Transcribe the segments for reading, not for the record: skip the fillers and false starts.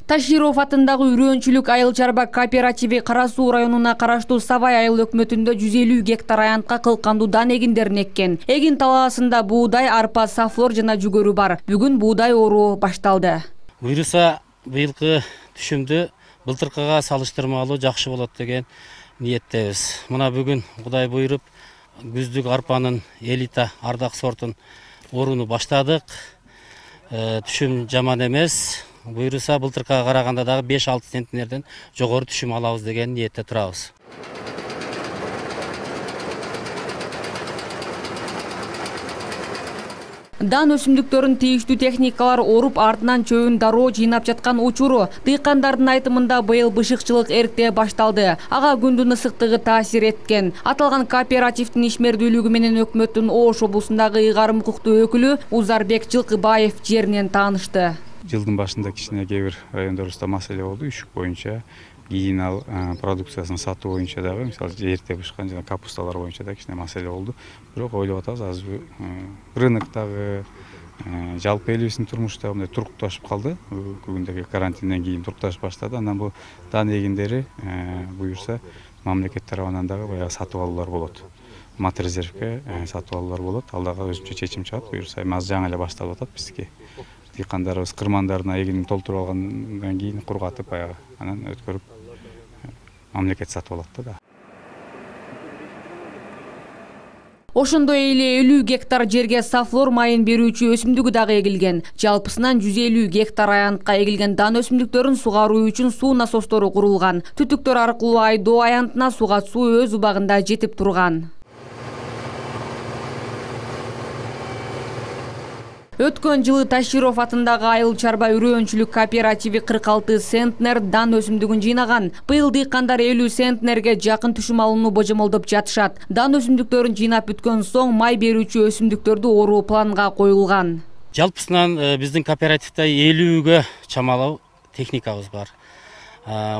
Таширов атындагы Үрөөнчүлүк айыл чарба кооперативи Кара Суу районуна караштуу Сабай айыл өкмөтүндө 150 гектар аянтка кылкандуу дан эгиндерин эккен. Эгин талаасында буудай, арпа, сафлор жана жүгөрү бар. Бүгүн буудай оруу башталды. Буйруса быйылкы түшүмдү былтыркыга салыштырмалуу жакшы болот деген ниеттебиз. Мына бүгүн Кудай буйруп күздүк арпанын элита ардак сортун орууну баштадык. Түшүм жаман эмес. Буйруса былтыркыга караганда дагы 5-6 центнерден жогору түшүм алабыз деген ниетте турабыз. Дан өсүмдүктөрүн тийиштүү техникалар оруп, артынан чөбүн дароо жыйнап жаткан учуру. Дыйкандардын айтымында быйыл бышыкчылык эрте башталды. Ага күндүн ысыктыгы таасир эткен. Аталган кооперативдин ишмердүүлүгү менен өкмөттүн Ош облусундагы ыйгарым укуктуу өкүлү Узарбек Жылкыбаев жеринен таанышты. Жылдын башында кичине кээ бир райондорубузда маселе болду, үшүк боюнча, кийин ал продукциясын сатуу боюнча дагы, мисалы эрте бышкан жана капусталар боюнча да кичине маселе болду. Бирок ойлоп атабыз, азыр рыноктогы, жалпы элибиздин турмушта мындай турукташып калды. Бүгүндөгү карантинден кийин турукташып баштады. Андан бул дан эгиндери буюрса мамлекет тарабынан дагы баягы сатып алуулар болот. Матрезервке сатып алуулар болот. Ал дагы өзүнчө чечим чыгат. Буюрса азыр жаңы эле башталып атат биздики. Дыйкандарыбыз кырмандарына эгинин толтуруп алгандан кийин кургатып баягы анан өткөрүп мамлекет сатып алат да. Ошондой эле 50 гектар жерге сафлор майын берүүчү өсүмдүгү дагы эгилген. Жалпысынан 150 гектар аянтка эгилген дан өсүмдүктөрүн сугаруу үчүн суу насостору курулган. Түтүктөр аркылуу айдоо аянтына суга суу өз убагында жетип турган. Өткөн жылы Таширов атындагы айыл чарба Үрөөнчүлүк кооперативи 46 центнер дан өсүмдүгүн жыйнаган. Быйыл дыйкандар 50 центнерге жакын түшүм алууну божомолдоп жатышат. Дан өсүмдүктөрүн жыйнап бүткөн соң май берүүчү өсүмдүктөрдү оруу планга коюлган. Жалпысынан биздин кооперативде 50ге чамалуу техникабыз бар.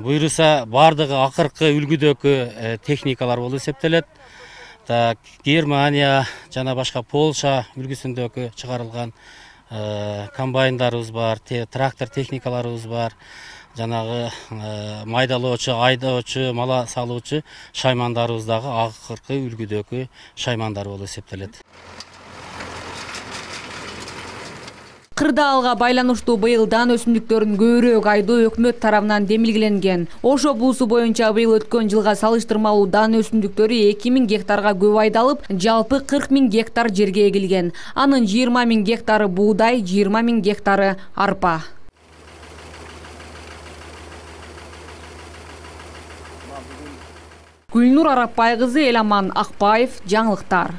Буйруса бардыгы акыркы үлгүдөгү техникалар болуп эсептелет. Германия жана башка Полша үлгүсүндөгү чыгарылган комбайндарыбыз бар, трактор техникаларыбыз бар, жанагы майдалоочу, айдоочу, мала салуучу шаймандарыбыз дагы акыркы үлгүдөгү шаймандар болуп эсептелет. Кырдаалга байланыштуу быйыл дан өсүмдүктөрүн көбүрөөк айдоо өкмөт тарабынан демилгеленген. Ош облусу боюнча быйыл өткөн жылга салыштырмалуу дан өсүмдүктөрү 2000 гектарга көп айдалып, жалпы 40 000 гектар жерге эгилген. Анын 20 000 гектары буудай, 20 000 гектары арпа. Гүлнур Арапбай кызы, Эламан Акбаев, жаңылыктар.